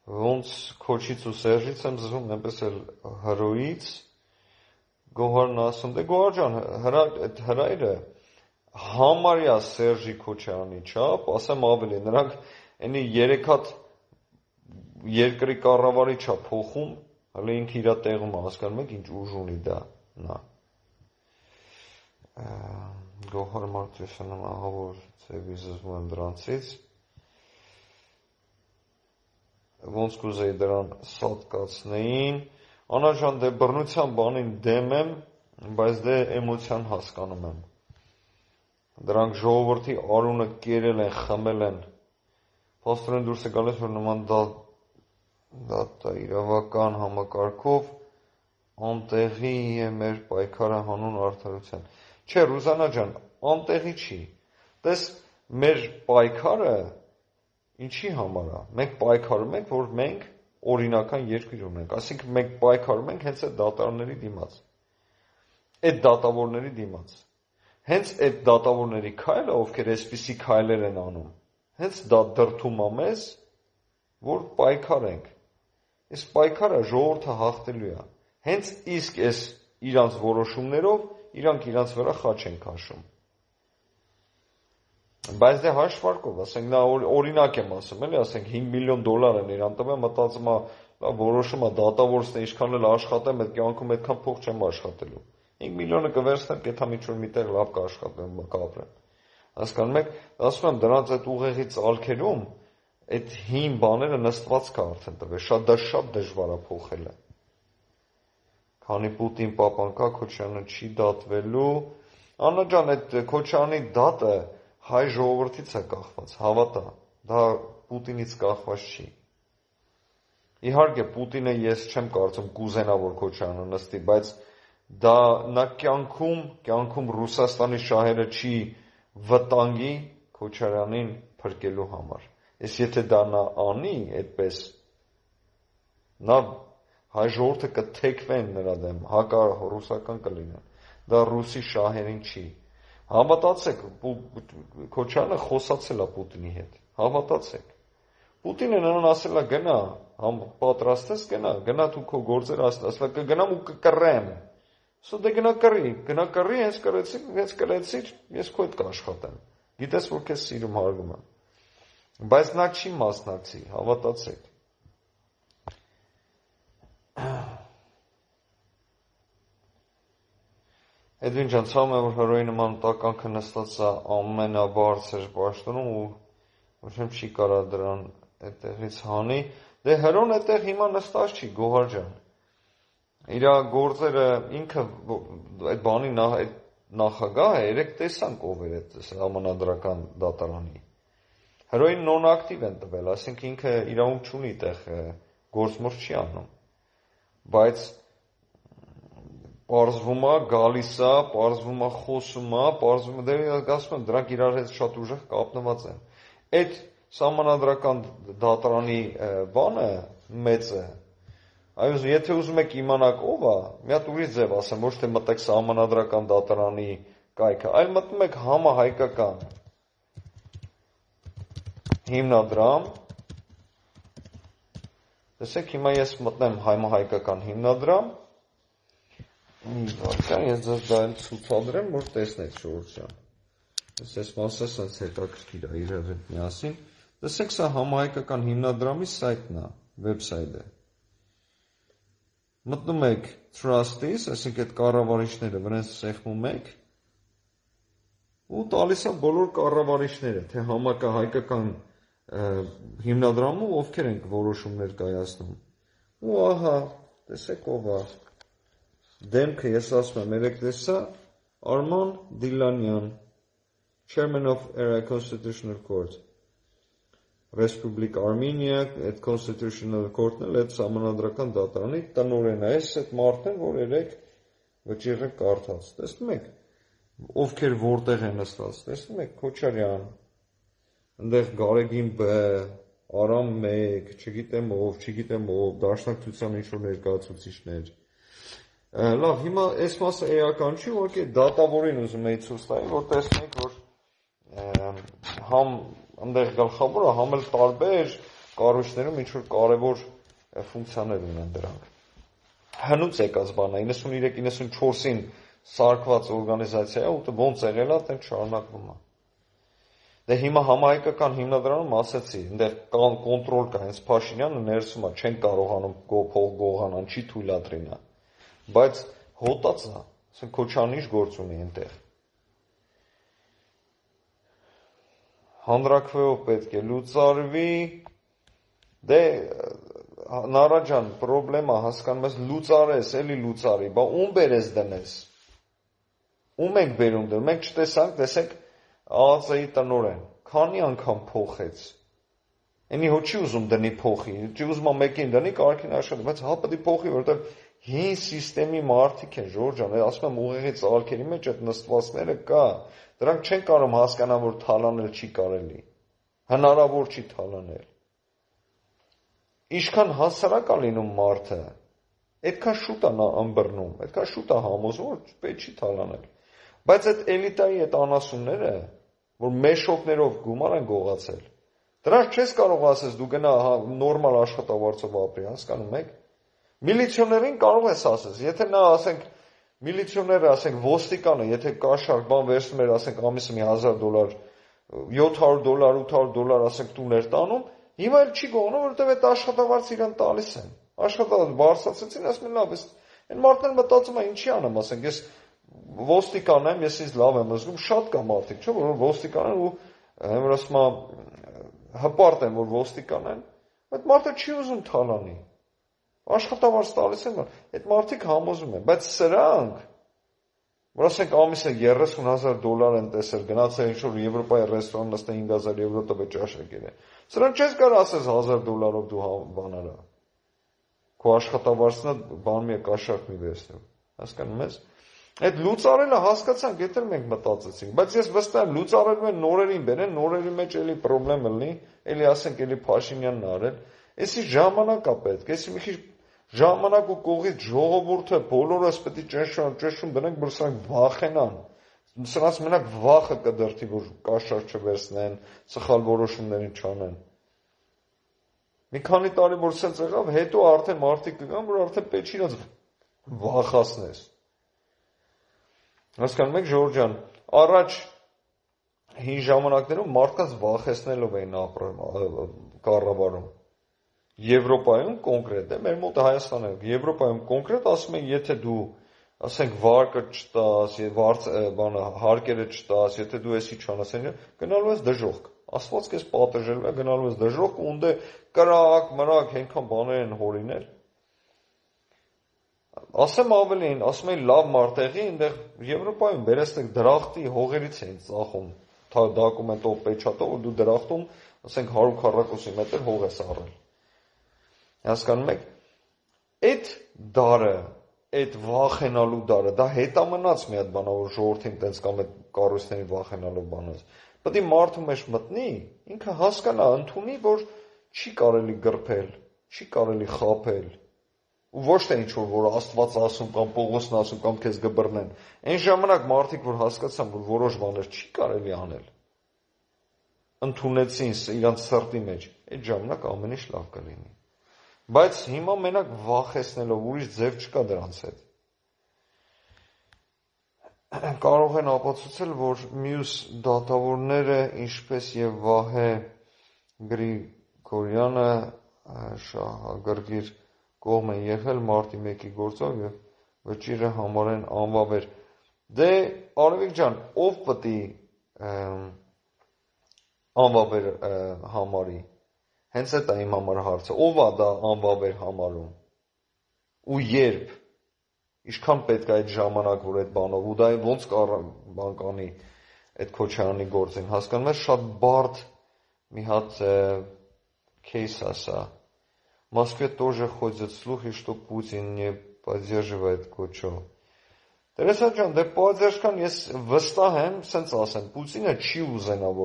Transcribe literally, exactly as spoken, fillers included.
ոնց քոչից ու Սերժից եմ զգում, այնպես էլ հրոյից Գոհարն ասում, դե Գոհար ջան, այդ հրայրը համարյա Սերժի Քոչարյանի չափ, ասեմ ավելի, նրանք այնի երեք հատ երկրի կառավարի չափ փոխում, հələ ինքը իր տեղում հասկանում եք ինչ ուժ ունի դա, նա։ Գոհար Մարտիրոսյանը ահավոր ծեվի զզվում եմ դրանցից, ոնց կուզեի դրան սատկացնեին, Անա ջան, դե բռնության բանին դեմ եմ, բայց դե էմոցիան հասկանում եմ։ Դրանք ժողովրդի արունը կերել են, խմել են։ Փաստորեն դուրս է գալիս, որ նման դատա իրավական համակարգով անտեղի է մեր պայքարը հանուն արդարության։ Չէ, Ռուզանա ջան, անտեղի չի։ Տես մեր պայքարը ինչի համար է։ Մենք պայքարում ենք, որ մենք օրինական երկիր ունենք, այսինքն մենք պայքարում ենք հենց այդ դատավորների դիմաց, այդ դատավորների դիմաց, հենց այդ դատավորների քայլը, ովքեր այսպիսի քայլեր են անում, հենց դա դրդում է մեզ, որ պայքարենք, այս պայքարը ժողովուրդը հաղթելու է, հենց իսկ այս իրանց որոշումներով, իրանք իրանց վրա խաչ են քաշում, բայց դե հաշվարկով, ասենք նա օրինակ եմ ասում, էլի, ասենք հինգ միլիոն դոլար են իրան տվել, մտածում է, որոշում է դատավորն է ինչքան էլ աշխատեմ, այդ կյանքում այդքան փող չեմ աշխատելու։ հինգ միլիոնը կվերցնեմ, կեթա ինչ-որ միտեղ լավ կաշխատեմ, կապրեմ։ Հասկանում եք, ասում եմ, դրանց այդ ուղեղի ծալքերում այդ հին բաները նստված կա արդեն տվել, շատ դա շատ դժվար է փոխելը։ Քանի Պուտին պապան կա, Քոչարյանը չի դատվելու։ Աննա ջան, այդ Քոչարյանի դատը հայ ժողովրդից է կախված, հավատա, դա Պուտինից կախված չի։ Իհարկե, Պուտինը ես չեմ կարծում կուզենա, որ Քոչարյանը նստի, բայց դա նա կյանքում, կյանքում Ռուսաստանի շահերը չի վտանգի Քոչարյանին փրկելու համար։ Ես եթե դա նա անի, այդպես, նա հայ ժողովուրդը կթեքվեն նրա դեմ, հակառուսական կլինեն, դա ռուսի շահերին չի։ Հավատացեք, Քոչարյանը խոսացել է Պուտինի հետ, հավատացեք։ Պուտինը նրան ասել է գնա, պատրաստ ես գնա, գնա դու քո գործերը ասել է կգնամ ու կկռեմ։ Սա դե գնա կռի, գնա կռի, հենց կռեցիր, հենց կռեցիր, ես քո հետ կաշխատեմ։ Գիտես որ քեզ սիրում հարգում եմ։ Բայց նա չի մասնակցի, հավատացեք։ Էդվին ջան, ցավում է, որ հրոյի նման տականքը նստած է ամենաբարձր պաշտոնում ու ոչինչ չի կարա դրան այդտեղից հանի։ Դե հրոն այդտեղ հիմա նստած չի, Գոհար ջան։ Իր գործերը ինքը այդ բանի այդ նախագահը երեք տեսանք ով էր այդ համանadrական դատարանի։ Հրոյին նոն-ակտիվ են տվել, ասենք ինքը իրավունք չունի այդտեղ գործմոր չի անում։ Բայց պարզվում է, գալիս է, պարզվում է, խոսում է, պարզվում է, դե ասում եմ, դրանք իրար հետ շատ ուժեղ կապնված են։ Այդ համանadrական դատարանի բանը մեծը, այո, եթե ուզում եք իմանաք ով է, մի հատ ուրիշ ձև ասեմ, ոչ թե մտեք համանadrական դատարանի կայքը, այլ մտնում եք համահայկական հիմնադրամ, տեսեք հիմա ես մտնեմ համահայկական հիմնադրամ, մի վարկան, ես ձեզ դա էլ ցուցադրեմ, որ տեսնեք Շորժ ջան։ Ես մասը սենց հետաքրքիր է իր հետ միասին։ Տեսեք, սա համահայկական հիմնադրամի սայթն է, վեբսայթը։ Մտնում եք Trust-ից, այսինքն այդ կառավարիչները վրան սեղմում եք ու տալիս է բոլոր կառավարիչները, թե համահայկական հիմնադրամում ովքեր են որոշումներ կայացնում։ Ու ահա, տեսեք ով է։ Դեմքը ես ասում եմ, երեք տեսա Արման Դիլանյան, Chairman of Constitutional Court, Republic Armenia, այդ Constitutional Court-ն էլ այդ համանadrական դատարանի տնօրենն է, այս այդ մարդն է, որ երեք վճիռը կարդաց, տեսնում եք, ովքեր որտեղ են նստած, տեսնում եք, Քոչարյան, այնտեղ Գարեգին Բ, Արամ մեկ, չգիտեմ ով, չգիտեմ ով, դաշնակցության ինչ-որ ներկայացուցիչներ։ Լավ, հիմա այս մասը էական չի, ուղղակի դատավորին ուզում էի ցույց տալ, որ տեսնենք, որ համ այնտեղ գլխավորը, համ էլ տարբեր, կառույցներում ինչ-որ կարևոր ֆունկցիաներ ունեն դրանք։ Հնուց եկած բան է, իննսուններեք իննսունչորսին սարքված օրգանիզացիա է, ու ոնց եղել է, այդպես շարունակվում է։ Դե հիմա համահայկական հիմնադրամում ասեցի, այնտեղ կան կոնտրոլ կա, հենց Փաշինյանը ներսում է, չեն կարողանում փող գողանան, չի թույլատրին է։ Բայց հոտած է, ասենք Քոչարյանը ինչ գործ ունի այնտեղ։ Հանրաքվեով պետք է լուծարվի, դե Նարա ջան, պրոբլեմա հասկանում ես, լուծարես, էլի լուծարի, բա ում բերես դնես։ Ում ենք բերում դրում, մենք չտեսանք, տեսեք ԱԱԾ-ի տնօրեն, քանի անգամ փոխեց։ Էնի հո չի ուզում դնի փոխի, չի ուզում մեկին դնի, կարքին աշխատի, բայց հա պետք է փոխի, որովհետև հին սիստեմի մարդիկ են, Ժորժ ջան, ասում եմ ուղեղի ծալքերի մեջ այդ նստվածները կա, դրանք չեն կարող հասկանալ, որ թալանել չի կարելի, հնարավոր չի թալանել։ Ինչքան հասարակ է լինում մարդը, այդքան շուտ է նա ըմբռնում, այդքան շուտ է համոզում, որ պետք չի թալանել։ Բայց այդ էլիտայի այդ անասունները, որ մեշոկներով գումար են գողացել, դրանց չես կարող ասես դու գնա նորմալ աշխատավարձով ապրի, հասկանում եք։ Միլիցիոներին կարող ես ասես, եթե նա ասենք միլիցիոները, ասենք ոստիկանը, եթե կաշառք բան վերցնում էր, ասենք ամիսը մի հազար դոլար, յոթ հարյուր դոլար, ութ հարյուր դոլար, ասենք տուներ տանում, հիմա էլ չի գողանում, որովհետև այդ աշխատավարձը իրան տալիս են։ Աշխատավարձ բարձրացրեցին, ասում են լավ, այն մարդները մտածում են ինչի անեմ, ասենք ես ոստիկան եմ, ես ինձ լավ եմ զգում, շատ կա մարդիկ, չէ՞, որ ոստիկան են ու հենց ասում եմ հպարտ են, որ ոստիկան են, այդ մարդը չի ուզում թալանի։ Աշխատավարձ տալիս են, այդ մարդիկ համոզում են, բայց սրանք, որ ասենք ամիսը երեսուն հազար դոլար են տեսել, գնացել ինչ-որ Եվրոպայի ռեստորան նստել հինգ հազար եվրո տվե ճաշակել է։ Սրանք չես կարող ասես հազար դոլարով դու բան արա։ Քո աշխատավարձն է բան մի կաշառք մի վերցնում։ Հասկանում ես։ Այդ լուծարելը հասկացանք, եթե մենք մտածեցինք, բայց ես վստահ եմ լուծարելու են նորերին բերեն, նորերի մեջ էլի խնդրեմ լինի, էլի ասենք էլի Փաշինյանն արել։ Էսի ժամանակ է պետք, էսի մի քիչ ժամանակ ու կողից ժողովուրդը բոլորս պետք է ճնշում, ճնշում դնենք, որ սրանք վախենան։ Սրանց մենակ վախը կդրթի, որ կաշառք չվերցնեն, սխալ որոշումներ չանեն։ Մի քանի տարի որ սենց եղավ, հետո արդեն մարդիկ կգան, որ արդեն պետք չի իրաց վախացնես։ Հասկանում եք, Ժորժ ջան, առաջ հին ժամանակներում մարդկանց վախեցնելով էին ապրում կառավարում։ Եվրոպայում կոնկրետ է, մեր մոտ Հայաստանում, Եվրոպայում կոնկրետ ասում են, եթե դու, ասենք, վարկը չտաս, բանը հարկերը չտաս, եթե դու էսի չանես, գնալու ես դժոխք։ Աստված քեզ պատժելու է, գնալու ես դժոխք ու ունդե կրակ, մրակ, այնքան բաներ են հորինել։ Ասեմ ավելին, ասում էին լավ մարտեղի, այնտեղ Եվրոպայում վերստեք դրախտի հողերից էին ծախում, դոկումենտով պեչատով, որ դու դրախտում, ասենք հարյուր քառակուսի մետր հող ես առել։ Հասկանում եք, այդ դարը, այդ վախենալու դարը, դա հետամնաց մի հատ բանա, որ ժողովրդին տենց կամ այդ կառույցների վախենալու բանից։ Պետք է մարդու մեջ մտնի, ինքը հասկանա, ընդունի, որ չի կարելի գրփել, չի կարելի խաբել։ Ու ոչ թե ինչ-որ, որ Աստված ասում կամ Պողոսն ասում կամ քեզ գբռնեն։ Այն ժամանակ մարդիկ, որ հասկացան, որ որոշ բաներ չի կարելի անել, ընդունեցին իրանց սրտի մեջ, այդ ժամանակ ամեն ինչ լավ կլինի։ Բայց հիմա մենակ վախեցնելով, ուրիշ ձև չկա դրանց հետ։ Կարող են ապացուցել, որ մյուս դատավորները, ինչպես եւ Վահե Գրիգորյանը, շահագրգիռ կողմ են եղել մարտի մեկի գործով եւ վճիռը համարեն անվավեր։ Դե Արևիկ ջան, ով պետք է անվավեր համարի։ Հենց այդ է իմ համար հարցը, ով է դա անվավեր համարում։ Ու երբ, ինչքան պետք է այդ ժամանակ, որ այդ բանով, ու դա ոնց բան կանի այդ Քոչարյանի գործին, հասկանում ես, շատ բարդ մի հատ кейս է սա։ В Москве тоже ходят слухи, что Путин не поддерживает Кучо. Տերեսա ջան, դե պատերժքան ես վստահ եմ, սենց ասեմ, Պուտինը չի ուզենա, որ